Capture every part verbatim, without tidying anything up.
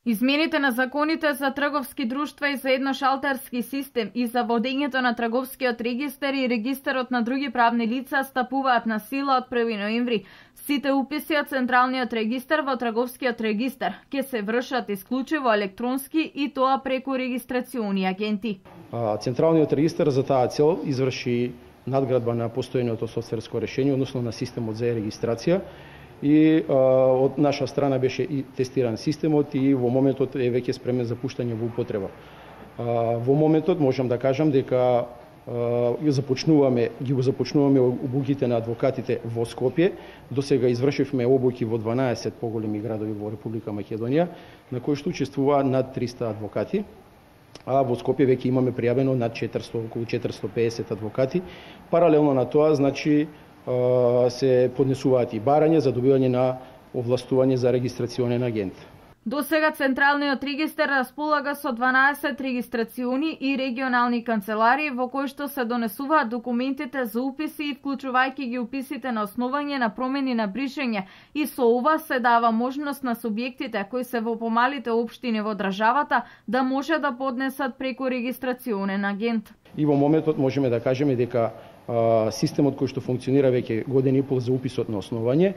Измените на законите за трговски друштва и за едношалтерски систем и за водењето на трговскиот регистар и регистарот на други правни лица стапуваат на сила од први ноември. Сите уписи од Централниот регистар во трговскиот регистар ќе се вршат исклучиво електронски и тоа преку регистрациони агенти. Централниот регистар за таа цел изврши надградба на постојното софтверско решение, односно на системот за регистрација. И а, од наша страна беше и тестиран системот и во моментот е веќе спремен за пуштање во употреба. А, во моментот можам да кажам дека а, започнуваме, ги го започнуваме обуките на адвокатите во Скопје. До сега извршивме обуки во дванаесет поголеми градови во Република Македонија, на кои што учествуваа над триста адвокати. А во Скопје веќе имаме пријавено над четиристо, околу четиристо и песет адвокати. Паралелно на тоа, значи, се поднесуваат и барања за добивање на овластување за регистрационен агент. До сега Централниот регистар располага со дванаесет регистрациони и регионални канцеларии во кои што се донесуваат документите за уписи и вклучувајќи ги уписите на основање на промени на бришење, и со ова се дава можност на субјектите кои се во помалите општини во државата да може да поднесат преку регистрационен агент. И во моментот можеме да кажеме дека системот кој што функционира веќе година и пол за уписот на основање,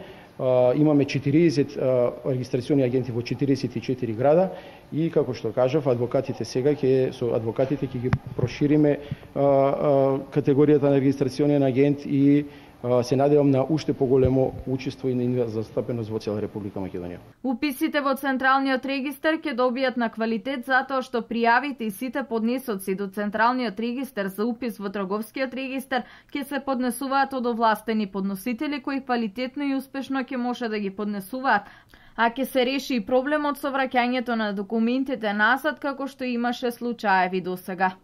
имаме четириесет регистрациони агенти во четириесет и четири града и, како што кажав, адвокатите сега ќе со адвокатите ќе ги прошириме категоријата на регистрационен агент и се надевам на уште поголемо учество и застапеност во цела Република Македонија. Уписите во Централниот регистар ќе добијат на квалитет затоа што пријавите и сите поднесоци до Централниот регистар за упис во Трговскиот регистар ќе се поднесуваат од овластени подносители кои квалитетно и успешно ќе може да ги поднесуваат, а ќе се реши и проблемот со враќањето на документите назад како што имаше случаеви досега.